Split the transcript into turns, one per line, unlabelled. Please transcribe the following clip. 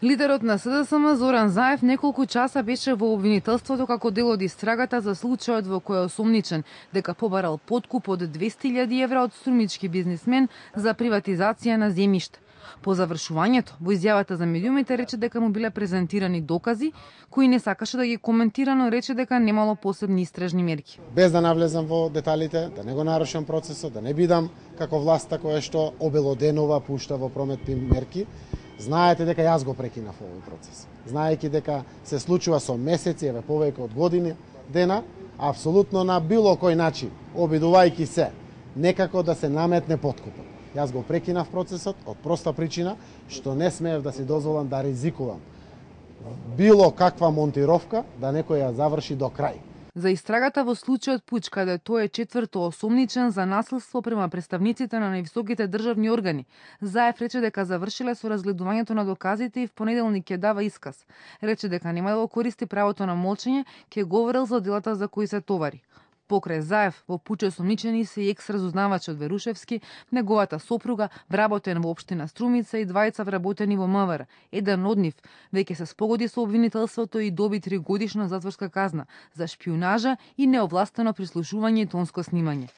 Лидерот на СДСМ Зоран Заев неколку часа беше во обвинителството како дел од истрагата за случајот во кој е осомничен дека побарал подкуп од 200.000 евра од струмички бизнисмен за приватизација на земјиште. По завршувањето, во изјавата за медиумите рече дека му биле презентирани докази кои не сакаше да ги коментира, но рече дека немало посебни истражни мерки.
Без да навлезам во деталите, да не го нарушам процесот, да не бидам како власта која што обелоденува, пушта во промет мерки, знаете дека јас го прекинав овој процес. Знаејќи дека се случува со месеци, еве повеќе од години дена, апсолутно на било кој начин, обидувајќи се некако да се наметне подкупот. Јас го прекинав процесот од проста причина што не смеев да си дозволам да ризикувам било каква монтировка да некој ја заврши до крај.
За истрагата во случајот Пуч, каде тој е четврто осомничен за насилство према представниците на највисоките државни органи, Заев рече дека завршиле со разгледувањето на доказите и в понеделник ќе дава исказ. Рече дека нема да го користи правото на молчење, ќе говорел за делата за кои се товари. Покрај Заев, во Пуч осомничени се и екс-разузнавач од Верушевски, неговата сопруга, вработен во општина Струмица и двајца вработени во МВР. Еден од нив веќе се спогоди со обвинителството и доби 3-годишна затворска казна за шпиунажа и неовластено прислушување и тонско снимање.